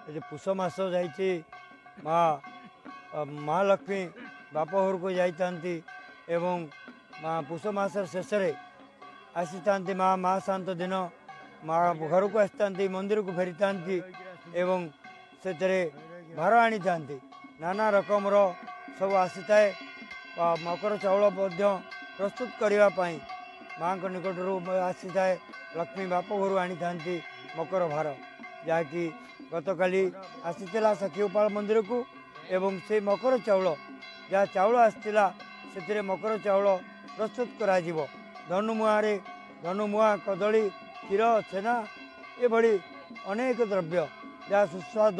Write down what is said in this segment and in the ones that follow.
ଏ ପୁଷ ମାସ ଯାଇଛି, ମା ମହାଲକ୍ଷ୍ମୀ ବାପ ଘରକୁ ଯାଇଥାନ୍ତି ଏବଂ ମା ପୁଷ ମାସର ଶେଷରେ ଆସିଥାନ୍ତି। ମା ଶାନ୍ତ ଦିନ ମା ଘରକୁ ଆସିଥାନ୍ତି, ମନ୍ଦିରକୁ ଫେରିଥାନ୍ତି ଏବଂ ସେଥିରେ ଭାର ଆଣିଥାନ୍ତି। ନାନା ରକମର ସବୁ ଆସିଥାଏ। ମକର ଚାଉଳ ମଧ୍ୟ ପ୍ରସ୍ତୁତ କରିବା ପାଇଁ ମାଆଙ୍କ ନିକଟରୁ ଆସିଥାଏ। ଲକ୍ଷ୍ମୀ ବାପ ଘରୁ ଆଣିଥାନ୍ତି ମକର ଭାର, ଯାହାକି ଗତକାଲି ଆସିଥିଲା ସାକ୍ଷୀଗୋପାଳ ମନ୍ଦିରକୁ। ଏବଂ ସେଇ ମକର ଚାଉଳ, ଯାହା ଚାଉଳ ଆସିଥିଲା, ସେଥିରେ ମକର ଚାଉଳ ପ୍ରସ୍ତୁତ କରାଯିବ। ଧନୁମୁଆଁରେ ଧନୁମୁଆଁ, କଦଳୀ, କ୍ଷୀର, ଛେନା ଏଭଳି ଅନେକ ଦ୍ରବ୍ୟ ଯାହା ସୁସ୍ୱାଦ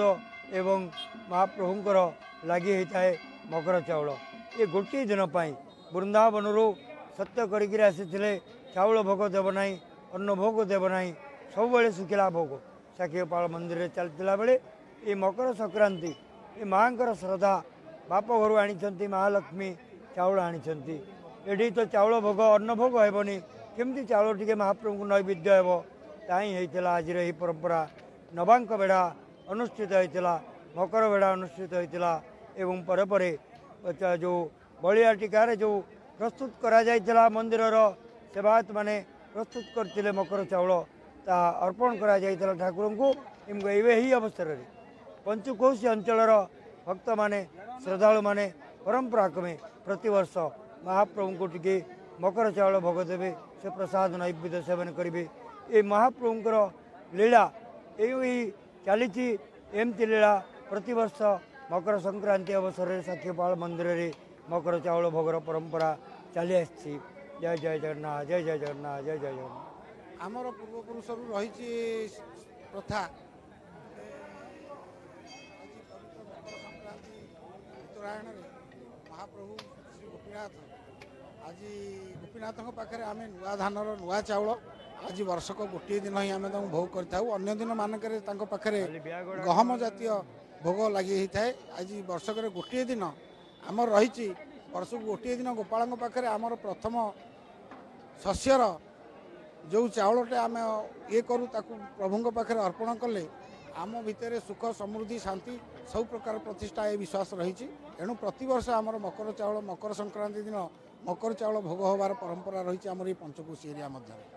ଏବଂ ମହାପ୍ରଭୁଙ୍କର ଲାଗି ହୋଇଥାଏ ମକର ଚାଉଳ। ଏ ଗୋଟିଏ ଦିନ ପାଇଁ ବୃନ୍ଦାବନରୁ ସତ୍ୟ କରିକିରି ଆସିଥିଲେ, ଚାଉଳ ଭୋଗ ଦେବ ନାହିଁ, ଅନ୍ନ ଭୋଗ ଦେବ ନାହିଁ, ସବୁବେଳେ ଶୁଖିଲା ଭୋଗ ସାକ୍ଷୀଗୋପାଳ ମନ୍ଦିରରେ ଚାଲିଥିଲା ବେଳେ ଏ ମକର ସଂକ୍ରାନ୍ତି ଏ ମାଆଙ୍କର ଶ୍ରଦ୍ଧା, ବାପ ଘରୁ ଆଣିଛନ୍ତି ମହାଲକ୍ଷ୍ମୀ ଚାଉଳ ଆଣିଛନ୍ତି। ଏଠି ତ ଚାଉଳ ଭୋଗ ଅନ୍ନ ଭୋଗ ହେବନି, କେମିତି ଚାଉଳ ଟିକେ ମହାପ୍ରଭୁଙ୍କୁ ନୈବେଦ୍ୟ ହେବ? ତାହିଁ ହେଇଥିଲା ଆଜିର ଏହି ପରମ୍ପରା। ନବାଙ୍କ ବେଢ଼ା ଅନୁଷ୍ଠିତ ହୋଇଥିଲା, ମକର ବେଢ଼ା ଅନୁଷ୍ଠିତ ହୋଇଥିଲା ଏବଂ ପରେ ପରେ ଯେଉଁ ବଳିଆ ଟୀକାରେ ଯେଉଁ ପ୍ରସ୍ତୁତ କରାଯାଇଥିଲା, ମନ୍ଦିରର ସେବାୟତମାନେ ପ୍ରସ୍ତୁତ କରିଥିଲେ ମକର ଚାଉଳ, ତାହା ଅର୍ପଣ କରାଯାଇଥିଲା ଠାକୁରଙ୍କୁ। ଏବଂ ଏବେ ଏହି ଅବସରରେ ପଞ୍ଚୁକୋଶୀ ଅଞ୍ଚଳର ଭକ୍ତମାନେ, ଶ୍ରଦ୍ଧାଳୁମାନେ ପରମ୍ପରା କ୍ରମେ ପ୍ରତିବର୍ଷ ମହାପ୍ରଭୁଙ୍କୁ ଟିକେ ମକର ଚାଉଳ ଭୋଗ ଦେବେ, ସେ ପ୍ରସାଦ ନୈବେଦ୍ୟ ସେବନ କରିବେ। ଏ ମହାପ୍ରଭୁଙ୍କର ଲୀଳା ଏଇ ଚାଲିଛି। ଏମିତି ଲୀଳା ପ୍ରତିବର୍ଷ ମକର ସଂକ୍ରାନ୍ତି ଅବସରରେ ସାକ୍ଷୀଗୋପାଳ ମନ୍ଦିରରେ ମକର ଚାଉଳ ଭୋଗର ପରମ୍ପରା ଚାଲି ଆସିଛି। ଜୟ ଜୟ ଜଗନ୍ନାଥ, ଜୟ ଜୟ ଜଗନ୍ନାଥ, ଜୟ ଜୟ ଜଗନ୍ନାଥ। ଆମର ପୂର୍ବପୁରୁଷରୁ ରହିଛି ପ୍ରଥା, ଆଜି ପବିତ୍ର ମକର ସଂକ୍ରାନ୍ତି ଉତ୍ତରାୟଣରେ ମହାପ୍ରଭୁ ଶ୍ରୀ ଗୋପୀନାଥ, ଆଜି ଗୋପୀନାଥଙ୍କ ପାଖରେ ଆମେ ନୂଆ ଧାନର ନୂଆ ଚାଉଳ ଆଜି ବର୍ଷକ ଗୋଟିଏ ଦିନ ହିଁ ଆମେ ତାଙ୍କୁ ଭୋଗ କରିଥାଉ। ଅନ୍ୟ ଦିନ ମାନଙ୍କରେ ତାଙ୍କ ପାଖରେ ଗହମ ଜାତୀୟ ଭୋଗ ଲାଗି ହେଇଥାଏ। ଆଜି ବର୍ଷକରେ ଗୋଟିଏ ଦିନ ଆମର ରହିଛି, ବର୍ଷକୁ ଗୋଟିଏ ଦିନ ଗୋପାଳଙ୍କ ପାଖରେ ଆମର ପ୍ରଥମ ଶସ୍ୟର ଯେଉଁ ଚାଉଳଟା ଆମେ ଇଏ କରୁ, ତାକୁ ପ୍ରଭୁଙ୍କ ପାଖରେ ଅର୍ପଣ କଲେ ଆମ ଭିତରେ ସୁଖ, ସମୃଦ୍ଧି, ଶାନ୍ତି ସବୁ ପ୍ରକାର ପ୍ରତିଷ୍ଠା, ଏ ବିଶ୍ୱାସ ରହିଛି। ଏଣୁ ପ୍ରତିବର୍ଷ ଆମର ମକର ଚାଉଳ, ମକର ସଂକ୍ରାନ୍ତି ଦିନ ମକର ଚାଉଳ ଭୋଗ ହେବାର ପରମ୍ପରା ରହିଛି ଆମର ଏଇ ପଞ୍ଚକୋଶୀ ଏରିଆ ମଧ୍ୟରେ।